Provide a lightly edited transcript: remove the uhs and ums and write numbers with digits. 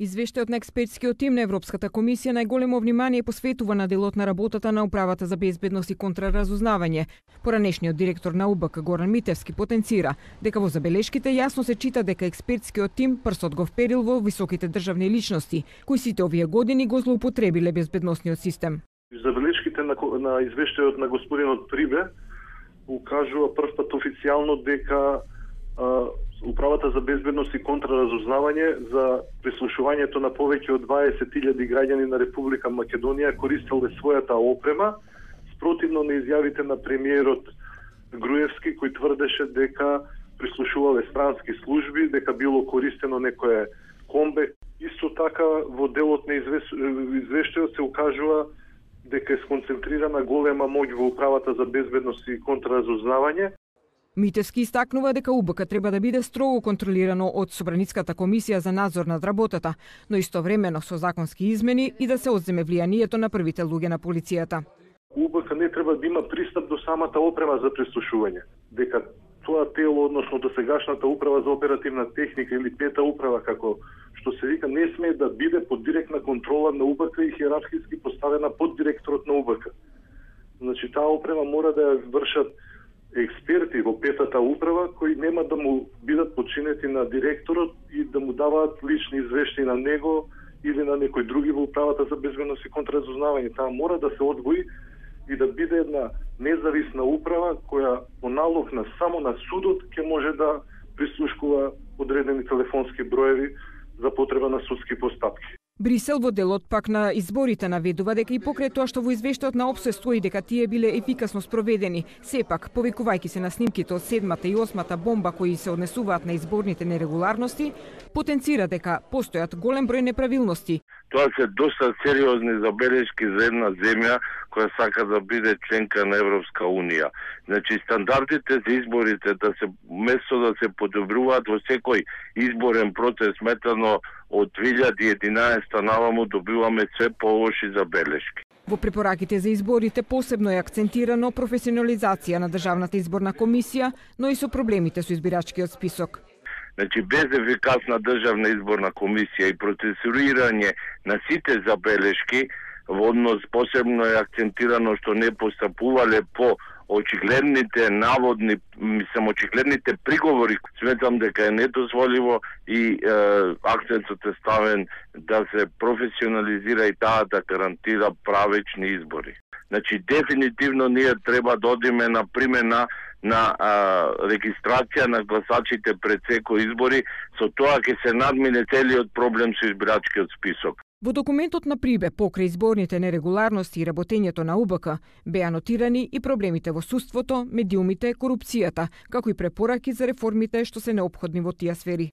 Извештајот на експертскиот тим на Европската комисија најголемо внимание посветува на делот на работата на Управата за безбедност и контраразузнавање. Поранешниот директор на УБК Горан Митевски потенцира дека во забелешките јасно се чита дека експертскиот тим прстот го вперил во високите државни личности, кои сите овие години го злоупотребиле безбедносниот систем. Забелешките на извештајот на господинот Прибе укажува првпат официјално дека Управата за безбедност и контраразузнавање за прислушувањето на повеќе од 20.000 граѓани на Република Македонија користеле својата опрема, спротивно на изјавите на премиерот Груевски, кој тврдеше дека прислушувале странски служби, дека било користено некое комбе. Исто така во делот на извештајот се укажува дека е сконцентрирана голема моќ во Управата за безбедност и контраразузнавање. Митевски истакнува дека УБК треба да биде строго контролирано од Собраницката комисија за надзор над работата, но истовремено со законски измени и да се одземе влијанието на првите луѓе на полицијата. УБК не треба да има пристап до самата опрема за прислушување. Дека тоа тело, односно досегашната управа за оперативна техника или пета управа, како што се вика, не смее да биде под директна контрола на УБК и хиерархиски поставена под директорот на УБК. Значи, таа опрема мора да ја вршат експерти во петата управа кои нема да му бидат подчинети на директорот и да му даваат лични извештаи на него или на некој други во Управата за безбедност и контраразузнавање. Таа мора да се одвои и да биде една независна управа која по налог на само на судот ќе може да прислушкува одредени телефонски броеви за потреба на судски постапки. Брисел во делот пак на изборите наведува дека и покрај тоа што во извештајот на ОПСЕ стои дека тие биле ефикасно спроведени, сепак, повикувајќи се на снимките од 7-та и 8-та бомба кои се однесуваат на изборните нерегуларности, потенцира дека постојат голем број неправилности. Тоа се доста сериозни забелешки за една земја која сака да биде членка на Европска унија. Значи, стандардите за изборите да се место да се подобруваат во секој изборен процес, метано од 2011 наваму добиваме се полоши забелешки. Во препораките за изборите посебно е акцентирано професионализација на Државната изборна комисија, но и со проблемите со избирачкиот список. Значи, без ефикасна Државна изборна комисија и процесуирање на сите забелешки, во однос посебно е акцентирано што не постапувале по очигледните наводни, очигледните приговори, сметам дека е недозволиво и акцентот е ставен да се професионализира и таа да гарантира правечни избори. Значи, дефинитивно ние треба да одиме на примена на регистрација на гласачите пред секој избори, со тоа ќе се надмине целиот проблем со избирачкиот список. Во документот на Прибе покрај изборните нерегуларности и работењето на УБК беа нотирани и проблемите во судството, медиумите, корупцијата, како и препораки за реформите што се неопходни во тие сфери.